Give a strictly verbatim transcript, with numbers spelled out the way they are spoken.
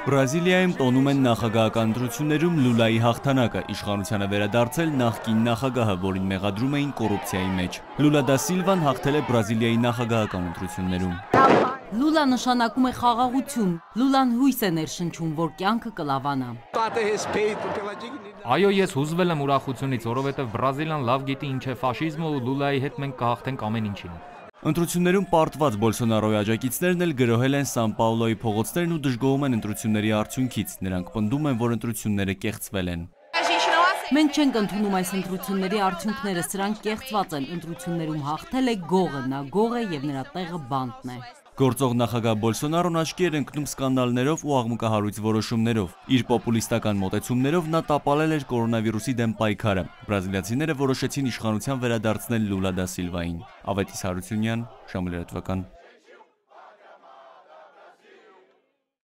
Բրազիլիայում տոնում են նախագահական ընտրություններում Լուլայի հաղթանակը, իշխանությանը վերադարձել նախկին նախագահը, որին մեղադրում էին կոռուպցիայի մեջ։ Լուլա դա Սիլվան հաղթել է Բրազիլիայի նախագահական ընտրություններում։ Լուլա նշանակում է խաղաղություն, Լուլան հույս է ներշնչում, որ կյանքը կլավանա։ Այո, ես հուզվել եմ ուրախությունից, որովհետև Բրազիլիան լավ գիտի ինչ է ֆաշիզմը ու Լուլայի հետ մենք կհաղթենք ամեն ինչին։ Ընտրություններում պարտված Բոլսոնարոյի աջակիցներն էլ գրոհել են Սան Պաուլոյի փողոցներն ու դժգոհում են ընտրությունների արդյունքից։ Նրանք պնդում են, որ ընտրությունները կեղծվել են։ Մենք չենք ընդունում այս ընտրությունների արդյունքները, սրանք կեղծված են, ընտրություններում հաղթել է գողը, նա գող է և նրա տեղը բանտն է։ Գործող նախագահ Բոլսոնարոն աչքի էր ընկնում սկանդալներով ու աղմուկահարույց որոշումներով։ Իր պոպուլիստական մոտեցումներով նա տապալել էր կորոնավիրուսի դեմ պայքարը։ Բրազիլացիները որոշեցին իշխանության վերադարձնել Լուլա դա Սիլվային։ Ավետիս Հարությունյան, Ժամը լրատվական։